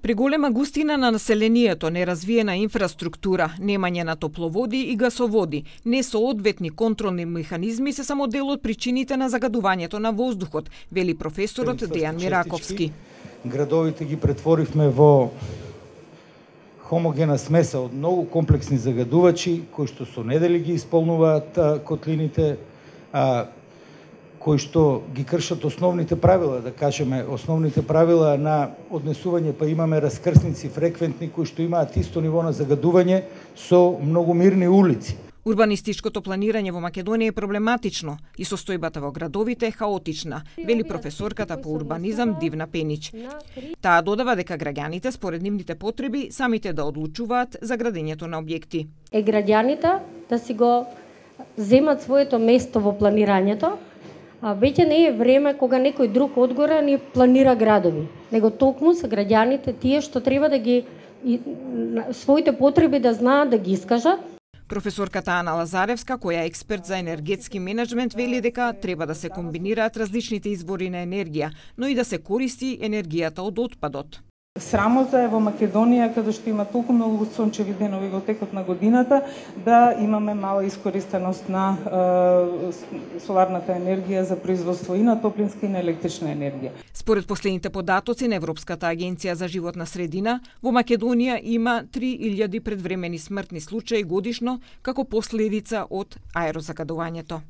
Преголема густина на населението, неразвиена инфраструктура, немање на топловоди и гасоводи, несоодветни контролни механизми се само дел од причините на загадувањето на воздухот, вели професорот Дејан Мираковски. Градовите ги претворивме во хомогена смеса од многу комплексни загадувачи, кои што со недели ги исполнуваат котлините, кои што ги кршат основните правила, да кажеме, основните правила на однесување, па имаме раскрсници фреквентни кои што имаат исто ниво на загадување со многу мирни улици. Урбанистичкото планирање во Македонија е проблематично и состојбата во градовите е хаотична, вели професорката по урбанизам Дивна Пенич. Таа додава дека граѓаните според нивните потреби самите да одлучуваат за градењето на објекти. Граѓаните да си го земат своето место во планирањето. Веќе не е време кога некој друг одгоре ни планира градови, него токму се граѓаните тие што треба да ги своите потреби да знаат да ги искажат. Професорката Ана Лазаревска, која е експерт за енергетски менеджмент, вели дека треба да се комбинираат различните извори на енергија, но и да се користи енергијата од отпадот. Срамота е во Македонија, каде што има толку многу сончеви денови во текот на годината, да имаме мала искористеност на соларната енергија за производство и на топлинска и на електрична енергија. Според последните податоци на Европската агенција за животна средина, во Македонија има 3000 предвремени смртни случаи годишно како последица од аерозагадувањето.